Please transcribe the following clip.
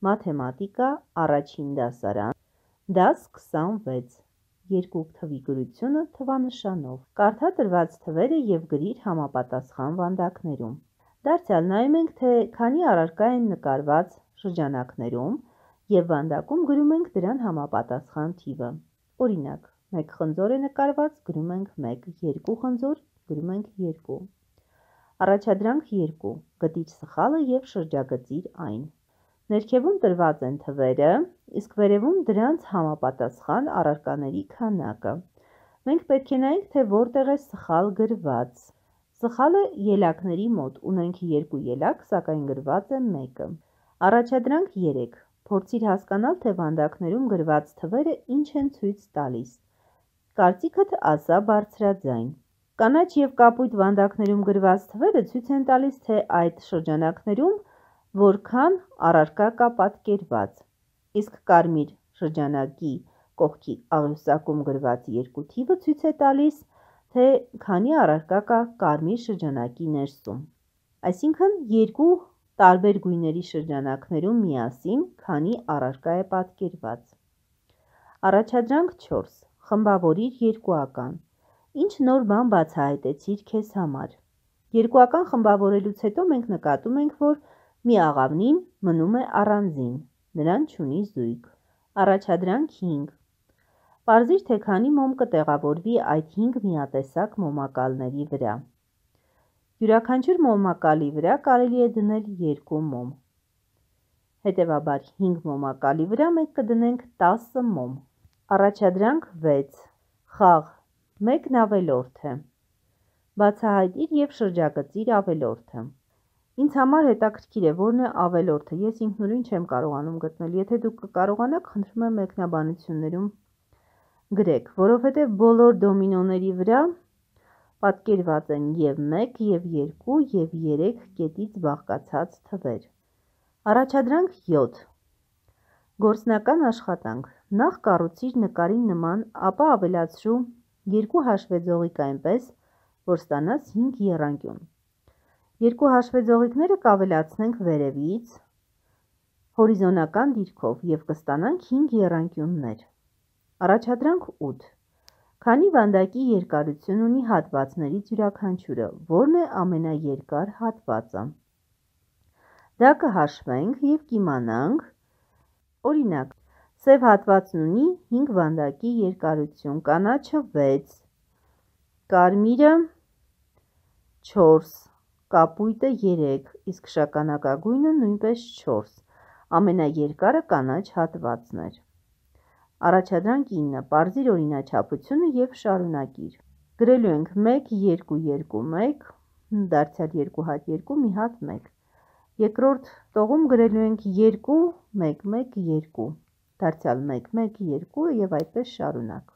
Մաթեմատիկա, առաջին դասարան, դաս 26, երկու թվի գրությունը թվանշանով, կարդա տրված թվերը և գրիր համապատասխան վանդակներում։ Դարձյալ նայում ենք, թե քանի առարկա են նկարված շրջանակներում և վանդակում գրում ենք դրան համապատասխան թիվը։ Օրինակ, 1 խնձոր է նկարված, գրում ենք 1, 2 խնձոր, գրում ենք 2։ Առաջադրանք 2, գտիր սխալը և շրջագծիր այն։ Ներքևում տրված են թվերը, իսկ վերևում դրանց համապատասխան առարկաների քանակը։ Մենք պետք է նայենք, թե որտեղ է սխալ գրված։ Սխալը ելակների մոտ, ունենք 2 ելակ, սակայն գրված է 1։ Առաջադրանք 3, փորձիր հասկանալ, թե վանդակներում գրված թվերը ինչ են ցույց տալիս։ Կարծիքդ ասա բարձրաձայն։ Կանաչ և կապույտ վանդակներում գրված թվերը ցույց են տալիս, թե այդ շրջանակներում որքան առարկա կա պատկերված, իսկ կարմիր շրջանակի կողքի աղյուսակում գրված 2 թիվը ցույց է տալիս, թե քանի առարկա կա կարմիր շրջանակի ներսում։ Այսինքն, երկու տարբեր գույների շրջանակներում միասին քանի առարկա է պատկերված։ Առաջադրանք 4, խմբավորիր երկուական։ Ինչ նոր բան բացահայտեցիր քեզ համար։ Երկուական խմբավորելուց հետո մենք նկատում ենք, որ մի աղավնին մնում է առանձին, նրան չունի զույգ։ Առաջադրանք 5, պարզիր, թե քանի մոմ կտեղավորվի այդ 5 միատեսակ մոմակալների վրա։ Յուրաքանչյուր մոմակալի վրա կարելի է դնել 2 մոմ։ Հետևաբար 5 մոմակալի վրա մենք կդնենք 10 մոմ։ Առաջադրանք 6, խաղ, մեկն ավելորդ է։ Բացահայտիր և շրջագծիր ավելորդը։ Ինձ համար հետաքրքիր է, որն է ավելորդը, ես ինքնուրույն չեմ կարողանում գտնել, եթե դուք կկարողանաք, խնդրում եմ մեկնաբանություններում գրեք, որովհետև բոլոր դոմինոների վրա պատկերված են և 1, և 2, և 3 կետից բաղկացած թվեր։ Առաջադրանք 7, գործնական աշխատանք, նախ կառուցիր նկարի նման, ապա ավելացրու 2 հաշվեձողիկ այնպես, որ ստանաս 5 եռանկյուն։ Երկու հաշվեձողիկները կավելացնենք վերևից, հորիզոնական դիրքով և կստանանք 5 եռանկյուններ։ Առաջադրանք 8, քանի վանդակի երկարություն ունի հատվածներից յուրաքանչյուրը, որն է ամենաերկար հատվածը։ Դա կհաշվենք և կիմանանք, օրինակ, սև հատվածն ունի 5 վանդակի երկարություն, կանաչը 6, կարմիրը 4, կապույտը 3, իսկ շագանակագույնը նույնպես 4, ամենաերկարը կանաչ հատվածն էր։ Առաջադրանք 9, պարզիր օրինաչափությունը և շարունակիր։ Գրելու ենք 1, 2, 2, 1, դարձյալ 2 հատ 2, մի հատ 1։ Երկրորդ տողում գրելու ենք 2, 1, 1, 2, դարձյալ 1, 1, 2 և այդպես շարունակ։